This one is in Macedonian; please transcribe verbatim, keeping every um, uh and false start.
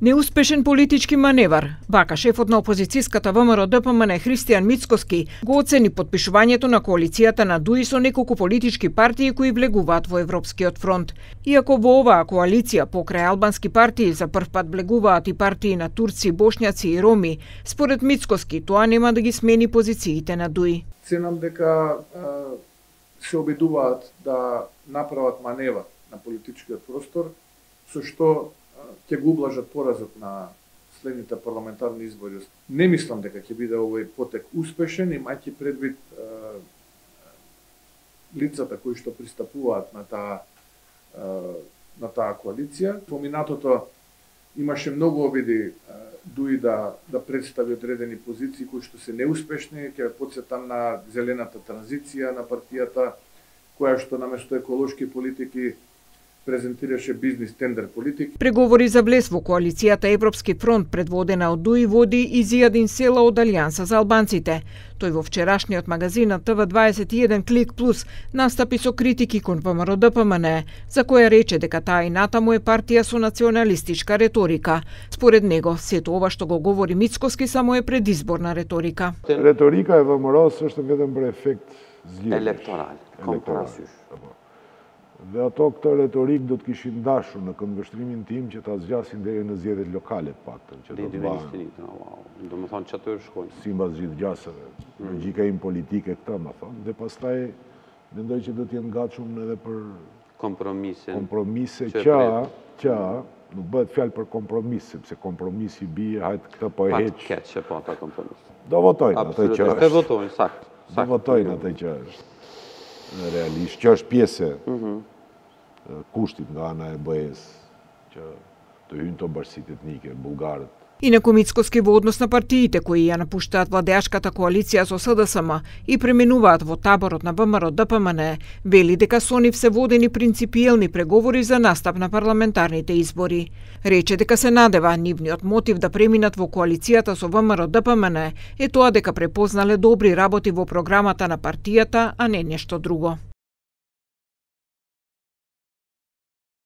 Неуспешен политички маневар, вака шефот на опозицијската ВМРО-ДПМН Христијан Мицкоски го оцени подпишувањето на коалицијата на ДУИ со неколку политички партии кои влегуваат во Европскиот фронт. Иако во оваа коалиција покрај албански партии за прв пат влегуваат и партии на турци, бошњаци и роми, според Мицкоски тоа нема да ги смени позициите на ДУИ. Ценам дека се обидуваат да направат маневар на политичкиот простор, со што ќе го ублажат поразот на следните парламентарни избори. Не мислам дека ќе биде овој потек успешен, имајќи предвид е, лицата кои што пристапуваат на таа е, на таа коалиција. Во минатото имаше многу обиди ДУИ да да представи одредени позиции кои што се неуспешни. Ќе потсетам на зелената транзиција на партијата, која што наместо еколошки политики презентираше бизнес тендер политики. Преговори за влез во коалицијата Европски фронт предводена од ДУИ води и Зијадин Села од Алијанса за албанците. Тој во вчерашниот магазин на Т В дваесет и еден Клик Плюс настапи со критики кон ВМРО-ДПМН, за која рече дека таа и натаму е партија со националистичка реторика. Според него, сето ова што го говори Мицкоски само е предизборна реторика. Реторика е ВМРО сушто веден бре ефект злије. Електорал, компарасјуш. Dhe ato këtë retorik do të kishin dashur në këndvështrimin tim që ta zgjasin deri në zgjedhjet lokale paktën, që do të bëhen. Do të thonë çato shkojnë. Sipas gjithë gjasave. Logjika im politike këtë më thonë, dhe pastaj mendoj që do të jenë gatshëm edhe për kompromise. Kompromise që që nuk bëhet fjalë për kompromis, sepse kompromisi bie hajt këtë po e heq. Pat keq që po ata kompromis. Do votojnë atë që është. Do votojnë sakt. Do votojnë atë që është. Realisht, që është pjesë kushtit nga ana e B E-s që të hyjnë të bashkësitë etnike, bullgarët. Инаку Мицкоски во однос на партиите кои ја напуштаат владеашката коалиција со С Д С М и преминуваат во таборот на ВМРО-ДПМН, вели дека со нив се водени принципиелни преговори за настап на парламентарните избори. Рече дека се надева нивниот мотив да преминат во коалицијата со ВМРО-ДПМН е тоа дека препознале добри работи во програмата на партијата, а не нешто друго.